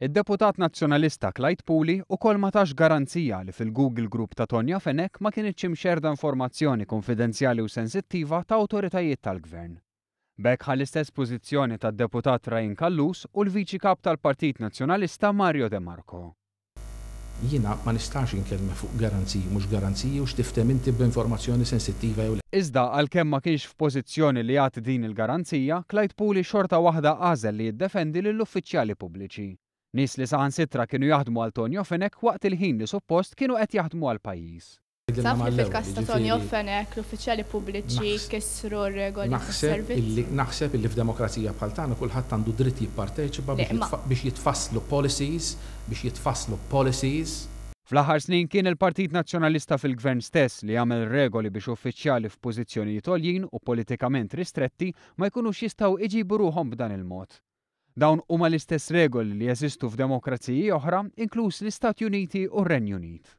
Id-deputat Nazzjonalista Clyde Puli ukoll ma tax garanzija li fil-Google Group ta' Tonio Fenech ma kinitx imxerrda informazzjoni kunfidenzjali u sensittiva ta' awtoritajiet tal-Gvern. B'hekk ħa l-istess pożizzjoni tad-deputat Ryan Callus u l-Viċi Kap tal-Partit Nazzjonalista Mario De Marco. Jiena ma nistax inkellmek fuq garanziji mhux garanziji u x'tifhem inti b'informazzjoni sensittiva jew le. Iżda għalkemm ma kienx f'pożizzjoni li jagħti din il-garanzija, Clyde Puli xorta waħda għażel li jiddefendi lill-uffiċjali pubbliċi. Nies li saħansitra kienu jaħdmu għal Tonio Fenech waqt il-ħin li suppost kienu qed jaħdmu għall-pajjiż. Taf li fil-każ ta' Tonio Fenech l-uffiċjali pubbliċi kisru r-regoli tas-servizz? Naħseb illi f'demokrazija bħal tagħna kulħadd għandu dritt jipparteċipa biex jitfasslu policies, biex jitfasslu policies. Fl-aħħar snin kien il-Partit Nazzjonalista fil-Gvern stess li għamel regoli biex uffiċjali f'pożizzjonijiet għoljin u politikament ristretti ma jkunux jistgħu iġibu ruħhom b'dan il-mod. Dawn huma l-istess regoli li jeżistu f'demokraziji oħra, inkluż l-Istati Uniti u r-Renju Unit.